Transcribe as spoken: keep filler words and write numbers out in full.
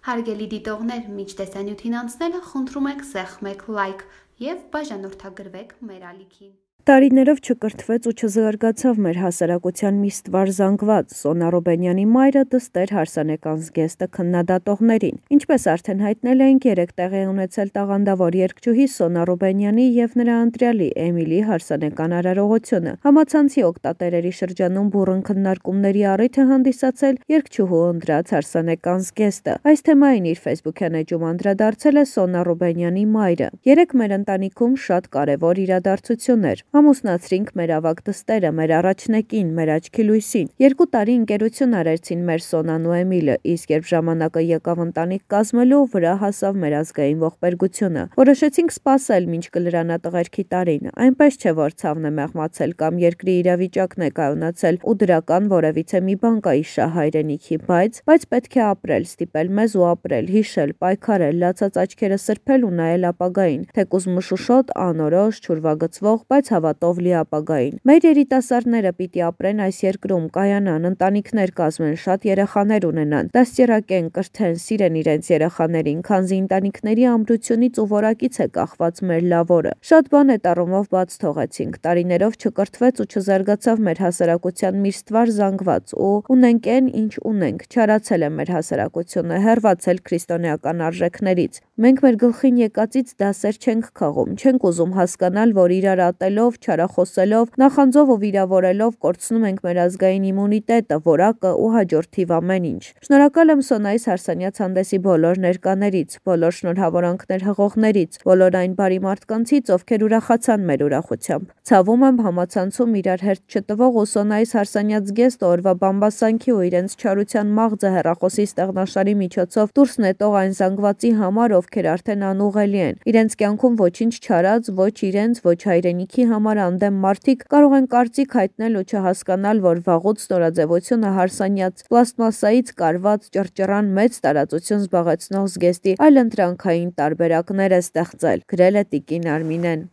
Հարգելի դիտողներ, մինչ տեսանյութին անցնելը խնդրում ենք սեղմեք լայք և բաժանորդագրվեք մեր ալիքին։ Տարիներով չկրթվեց ու չզարգացավ մեր հասարակության մի ստվար զանգված Սոնա Ռուբենյանի մայրը դստեր հարսանեկան զգեստը քննադատողներին։ Ինչպես արդեն հայտնել էինք, երեկ տեղի ունեցել տաղանդավոր երգչուհի Սոնա Ռուբենյանի և նրա ընտրյալի Էմիլի հարսանեկան արարողությունը։ Համացանցի օգտատերերի շրջանում բուռն քննարկումների առիթ է հանդիսացել երգչուհու ընտրած հարսանեկան զգեստը։ Այս թեմային իր ֆեյսբուքյան էջում անդրադարձել է Սոնա Ռուբենյանի մայրը։ Երեկ մեր ընտանիքում շատ կարևոր իրադարձություն էր։ Ամուսնացրինք մեր ավագ դստերը, մեր առաջնեկին, մեր աչքի լույսին։ Երկու տարի ընկերություն արեցին մեր Սոնան ու Էմիլը, իսկ երբ ժամանակը եկավ ընտանիք կազմելու, վրա հասավ մեր ազգային ողբերգությունը։ Որոշեցինք սպասել, մինչ կլրանա տղերքի տարին։ Այնպես չէ, որ ցավն է մեղմացել կամ երկրի իրավիճակն է կայունացել ու դրական որևիցե մի բան կա իշահ հայրենիքի, բայց բայց պետք է ապրել, ստիպել մեզ ու ապրել, հիշել, պայքարել, լացած աչքերը սրբել ու նայել ապագային, թեկուզ մշուշոտ, անորոշ, չուրվագծվող, բայց հավատով լի ապագային։ Մեր երիտասարդները պիտի ապրեն այս երկրում, կայանան, ընտանիքներ կազմեն, շատ երեխաներ ունենան, դաստիարակեն, կրթեն, սիրեն իրենց երեխաներին, քանզի ընտանիքների ամրությունից ու որակից է կախված մեր լավ օրը։ Շատ բան այդ առումով բաց թողեցինք, տարիներով չկրթվեց ու չզարգացավ մեր հասարակության մի ստվար զանգված ու ունենք այն, ինչ ունենք, չարացել է մեր հասարակությունը, հեռացել քրիստոնեական արժեքներից։ Մենք մեր գլխին եկածից դասեր չենք քաղում, չենք ուզում հասկանալ, որ իրար ատելով, չարախոսելով, նախանձով ու վիրավորելով կորցնում ենք մեր ազգային իմունիտետը, որակը ու հաջորդիվ ամեն ինչ։ Շնորհակալ եմ Սոնայիս Հարսանյաց հանդեսի բոլոր ներկաներից, բոլոր շնորհավորանքներ հղողներից, բոլոր այն բարի մարդկանցից, ովքեր ուրախացան մեր ուրախությամբ։ Ցավում եմ համացանցում իրար հերթ չտվող ու Սոնայիս Հարսանյաց զգեստը օրվա բամբասանքի ու իրենց չարության մաղձը հեռախոսի ստեղնաշարի միջոցով դուրս նետող այն զանգվածի համար, ովքեր արդեն անուղղելի են։ Իրենց կյանքում ոչինչ չարած, ոչ իրենց, ոչ հայրենիքի համար անդեմ մարդիկ կարող են կարծիք հայտնել ու չհասկանալ, որ վաղուց նորաձևությունը Հարսանյաց պլաստմասայից կարված ճռճռան մեծ տարածություն զբաղեցնող զգեստի այլընտրանքային տարբերակներ է ստեղծել, գրել է տիկին Արմինեն։